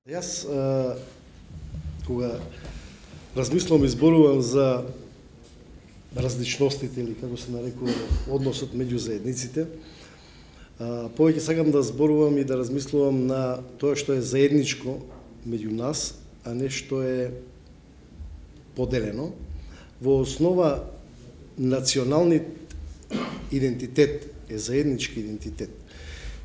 Јас, кога размислувам и зборувам за различностите или како се нарекува односот меѓу заедниците, повеќе сакам да зборувам и да размислувам на тоа што е заедничко меѓу нас, а не што е поделено. Во основа националниот идентитет е заеднички идентитет.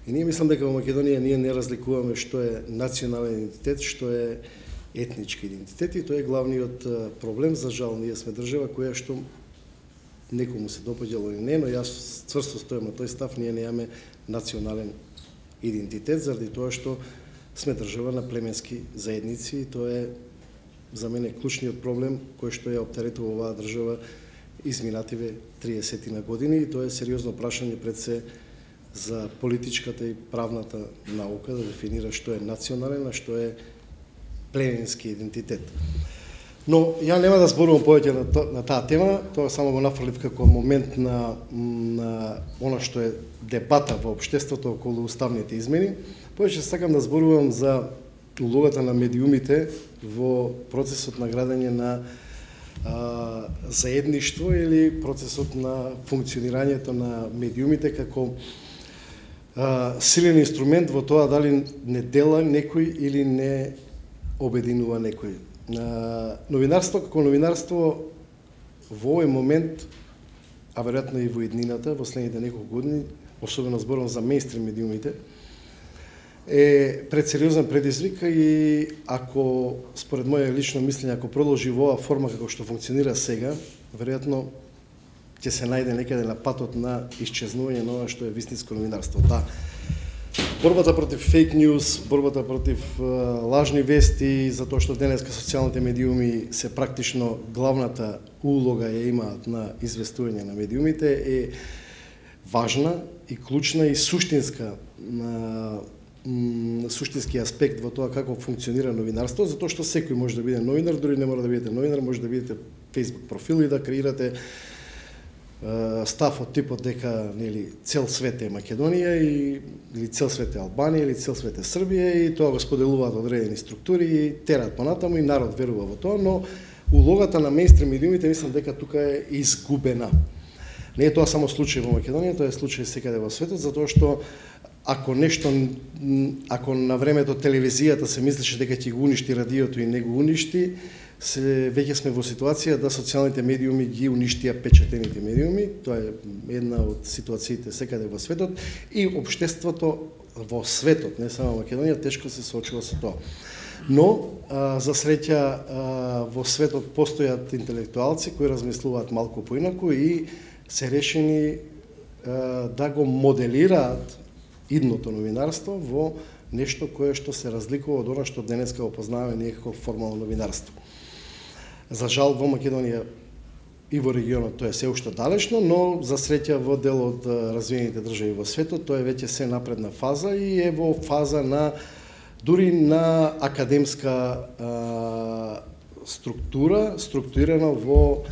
И ние мислам дека во Македонија ние не разликуваме што е национален идентитет, што е етнички идентитет, и тоа е главниот проблем. За жал, ние сме држава која што некому се допаѓало или не, но јас цврсто стојам на тој став, ние немаме национален идентитет, заради тоа што сме држава на племенски заедници, и тоа е за мене клучниот проблем кој што ја оптеретува оваа држава изминативе 30 на години, и тоа е сериозно прашање пред се за политичката и правната наука да дефинира што е национален, а што е племенски идентитет. Но ја нема да зборувам повеќе на таа тема, тоа само го нафрлив како момент на она што е дебата во општеството околу уставните измени. Повеќе сакам да зборувам за улогата на медиумите во процесот на градење на заедништво или процесот на функционирањето на медиумите како силен инструмент во тоа дали не дела некој или не обединува некој. Новинарство како новинарство во овој момент, а веројатно и во иднината, во следните неколку години, особено зборам за мејнстрим медиумите, е пред сериозен предизвик, и ако, според моје лично мислење, ако продолжи во оваа форма како што функционира сега, веројатно ќе се најде некаде на патот на исчезнување на ова што е вистинско новинарство. Да, борбата против фейк ньюс, борбата против лажни вести, затоа што денеска социјалните медиуми се практично главната улога ја имаат на известување на медиумите, е важна и клучна и суштинска суштински аспект во тоа како функционира новинарство, затоа што секој може да биде новинар, дури не мора да бидете новинар, може да бидете Facebook профил и да креирате став од типот дека нели цел свет е Македонија, или цел свет е Албанија, или цел свет е Србија, и тоа го споделуваат одредени структури и терат понатаму, и народ верува во тоа, но улогата на мејнстрим медиумите мислам дека тука е изгубена. Не е тоа само случај во Македонија, тоа е случај секаде во светот, затоа што ако на времето телевизијата се мислеше дека ќе го уништи радиото и не го уништи, веќе сме во ситуација да социјалните медиуми ги уништија печатените медиуми. Тоа е една од ситуациите секаде во светот, и општеството во светот, не само Македонија, тешко се соочува со тоа. Но, за среќа, во светот постојат интелектуалци кои размислуваат малку поинаку и се решени да го моделираат идното новинарство во нешто кое што се разликува од она што денеска опознаваме ние како формално новинарство. За жал, во Македонија и во регионот тоа е се уште далечно, но за среќа во дел од развиените држави во светот тоа е веќе се напредна фаза и е во фаза на дури на академска структура, структурирана во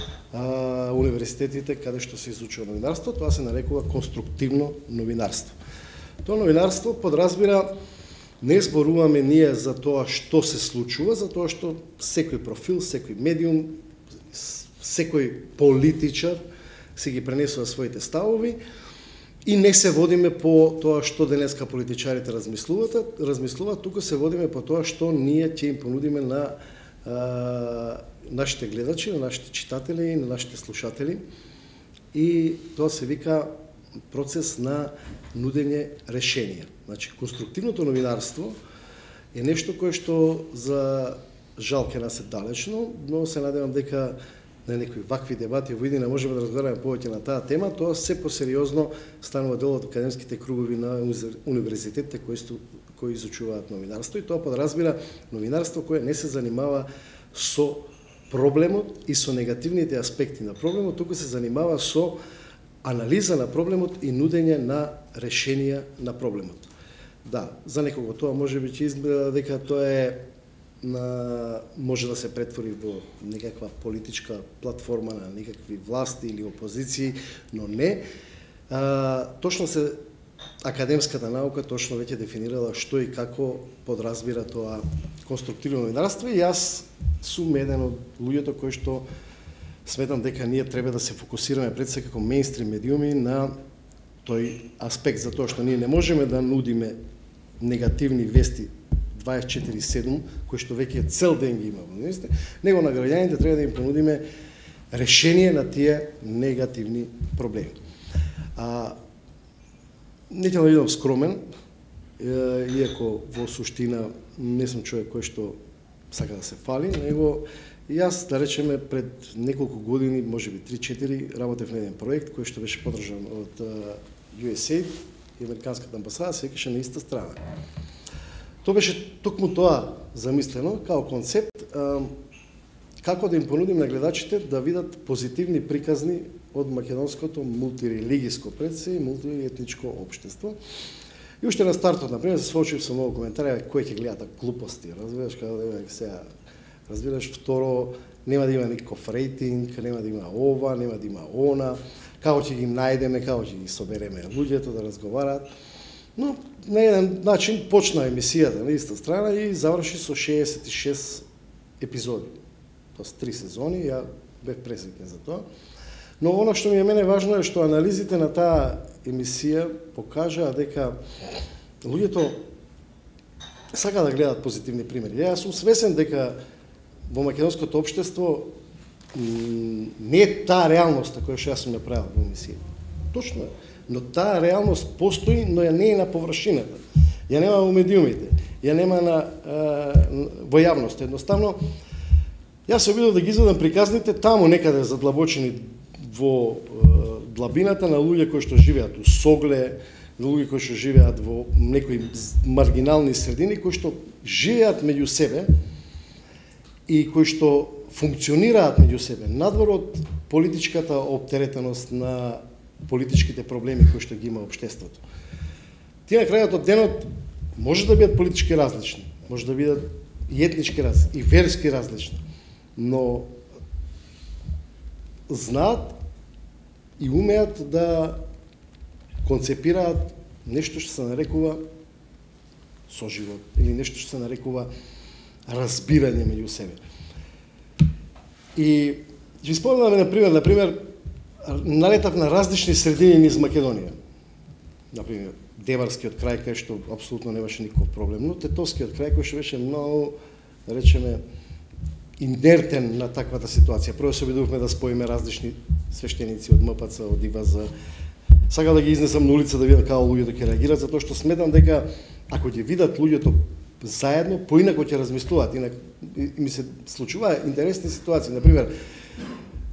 универзитетите каде што се изучува новинарство. Тоа се нарекува конструктивно новинарство. Тоа новинарство подразбира, не зборуваме ние за тоа што се случува, за тоа што секој профил, секој медиум, секој политичар се ги пренесува своите ставови, и не се водиме по тоа што денеска политичарите размислуваат, тука се водиме по тоа што ние ќе им понудиме на нашите гледачи, на нашите читатели, на нашите слушатели, и тоа се вика процес на нудење решенија. Значи, конструктивното новинарство е нешто кое што за жал ке нас е далечно, но се надевам дека на некои вакви дебати во иднина можеме да разговараме повеќе на таа тема. Тоа се посериозно станува дел од академските кругови на универзитетите кои изучуваат новинарство, и тоа подразбира новинарство кое не се занимава со проблемот и со негативните аспекти на проблемот, туку се занимава со анализа на проблемот и нудење на решенија на проблемот. Да, за некого тоа можеби ќе изгледа дека тоа е може да се претвори во некаква политичка платформа на некакви власти или опозиции, но не. Точно се академската наука точно веќе дефинирала што и како подразбира тоа конструктивно новинарство и јас сум еден од луѓето кои што сметам дека ние треба да се фокусираме пред се како мејнстрим медиуми на тој аспект, за тоа што ние не можеме да нудиме негативни вести 24/7, кои што веќе цел ден ги има, него на граѓаните треба да им понудиме решение на тие негативни проблеми. Не ќе да бидам скромен, иако во суштина не сум човек кој што сака да се фали, него јас, да речеме, пред неколку години, можеби 3-4, работев на еден проект кој што беше поддржан од USAID и Американската амбасада, се викаше На иста страна. Тоа беше токму тоа замислено као концепт, како да им понудим на гледачите да видат позитивни приказни од македонското мултирелигиско предсе и мултиетничко општество. И уште на стартот, например, се соочив со многу коментари, кој ќе гледа глупости, разбираш, како да има сега, разбираш, второ, нема да има никаков рейтинг, нема да има ова, нема да има она, како ќе ги најдеме, како ќе ги собереме луѓето да разговараат. Но на еден начин почна емисијата На иста страна и заврши со 66 епизоди. Тоа 3 сезони, ја бев пресреќен за тоа. Но оно што ми е мене важно е што анализите на таа емисија покажаа дека луѓето сака да гледат позитивни примери. Јас сум свесен дека во македонското општество не е таа реалноста која што јас сум направил во емисија. Точно е. Но таа реалност постои, но ја не е на површината. Ја нема во медиумите, ја нема во јавност. Едноставно, јас се обидов да ги изведам приказните таму некаде задлабочени во длабината на луѓе кои што живеат у Согле, луѓе кои што живеат во некои маргинални средини, кои што живеат меѓу себе и кои што функционираат меѓу себе, надвор од политичката оптеретеност на политичките проблеми кои што ги има општеството. Тие на крајот од денот може да бидат политички различни, може да бидат и етнички различни, и верски различни, но знаат и умеат да концепираат нешто што се нарекува соживот или нешто што се нарекува разбирање меѓу себе. И ќе спомнам на пример, налетав на различни средини низ Македонија. Например, Деварскиот крај кај што апсолутно немаше никаков проблем, но Тетовскиот крај кој што беше многу, да речеме, инертен на таквата ситуација. Прво се обидувавме да споиме различни свештеници од МПЦ, од ИВАЗ. Сакам да ги изнесам на улица да видам како луѓето ќе реагираат, затоа што сметам дека ако ќе видат луѓето заедно, поинако ќе размислуваат. Инак ми се случува интересни ситуации. Например,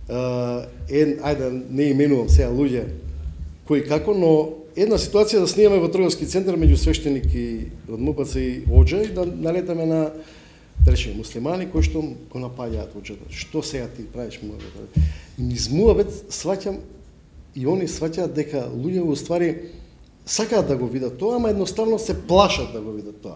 ајде не именувам сега луѓе кои како, но една ситуација да снимаме во трговски центар меѓу свештеник и од МПЦ и Оџа и да налетаме на, да речеме, муслимани кои што го напаѓаат Оџата. Што сега ти правиш му? Низ муабет сваќам и они сваќаат дека луѓе во ствари сакаат да го видат тоа, ама едноставно се плашат да го видат тоа.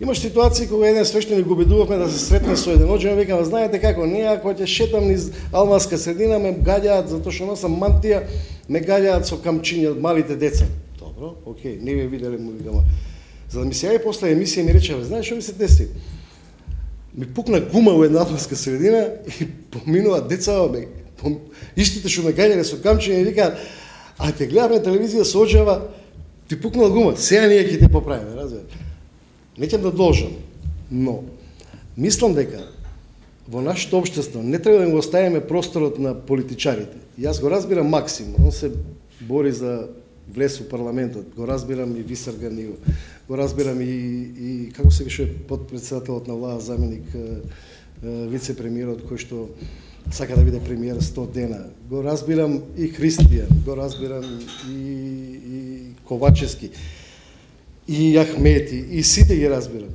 Имаш ситуации кога еден свештеник го обидувавме да се сретне со еден Оџа, векам, знаете како, не, ако ќе шетам низ Алмаска средина, ме гаѓаат, затоа што носам мантија, ме гаѓаат со камчиња од малите деца. Добро, окей, не ве виделе, му викам. За да ми се јави после емисија ми рече, знаеш што ми се деси? Ми пукна гума во една Алмаска средина и поминува деца, истите што ме гаѓале со камчиња и викаат, а те гледаме телевизија со Оџава, ти пукнала гума, сега ние ќе те поправиме, разбирате? Не ќе да должам, но мислам дека во нашето општество не треба да го оставиме просторот на политичарите. Јас го разбирам Максим, он се бори за влез во парламентот, го разбирам и Висарган, го разбирам и како се више подпредседателот на влада, заменик вице-премиерот кој што сака да биде премиер 100 дена. Го разбирам и Христијан, го разбирам и Ковачевски, и Ахмети, и сите ги разбирам.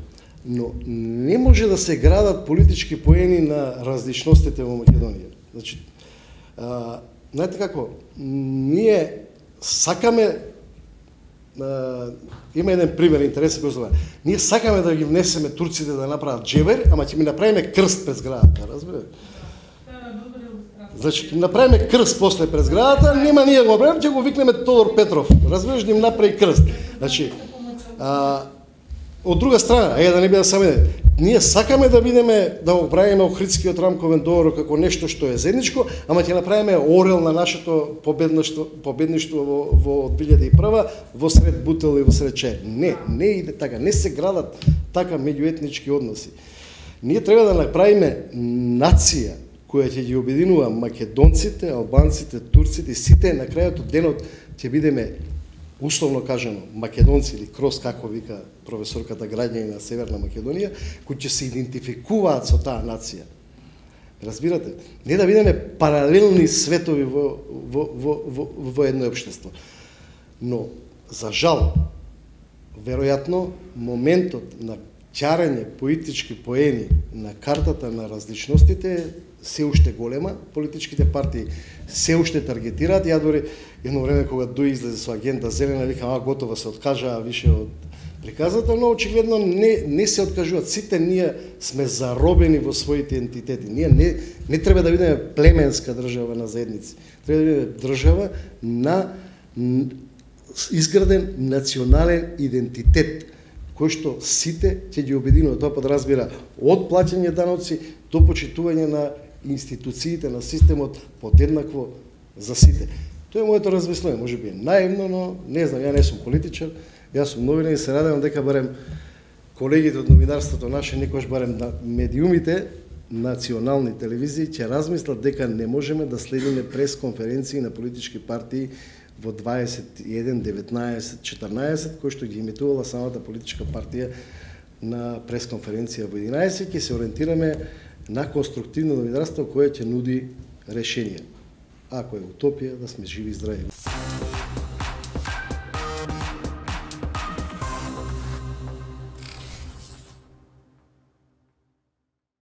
Но не може да се градат политички поени на различностите во Македонија. Значи, знаете како, ние сакаме, има еден пример интересен кој се ние сакаме да ги внесеме турците да направат джебер, ама ќе ми направиме крст пред зградата, разбирате? Значи, ќе направиме крст после пред зградата, нема ние го правиме, ќе го викнеме Тодор Петров. Разбираш, да им направи крст. Значи, од друга страна, да не биде само еден, ние сакаме да бидеме, да го правиме Охридскиот рамковен договор како нешто што е заедничко, ама ќе направиме орел на нашето победништво во 2001 во сред бутел и во сред чај. Не иде така, не се градат така меѓуетнички односи. Ние треба да направиме нација која ќе ги обединува македонците, албанците, турците и сите на крајот од денот ќе бидеме условно кажано македонци или крос, како вика професорката граѓани на Северна Македонија, кои ќе се идентификуваат со таа нација. Разбирате? Не да бидеме паралелни светови во едно општество. Но, за жал, веројатно, моментот на ќарење политички поени на картата на различностите се уште голема, политичките партии се уште таргетираат. Ја дори едно време кога Дуј излезе со агенда зелена, викам, готово се откажаа више од приказата, но очигледно не се откажуваат. Сите ние сме заробени во своите ентитети. Ние не треба да бидеме племенска држава на заедници. Треба да бидеме држава на изграден национален идентитет, кој што сите ќе ги обединува. Тоа подразбира од плаќање даноци до почитување на институциите, на системот подеднакво за сите. Тоа е моето размислување, може би е наивно, но не знам, ја не сум политичар, јас сум новинар и се радевам дека барем колегите од новинарството наше, некојаш барем на медиумите, национални телевизии, ќе размислат дека не можеме да следиме пресконференции на политички партии во 21, 19, 14, кој што ги имитувала самата политичка партија на пресконференција во 11, ќе се ориентираме на конструктивно новинарство кое ќе нуди решенија. Ако е утопија, да сме живи и здрави.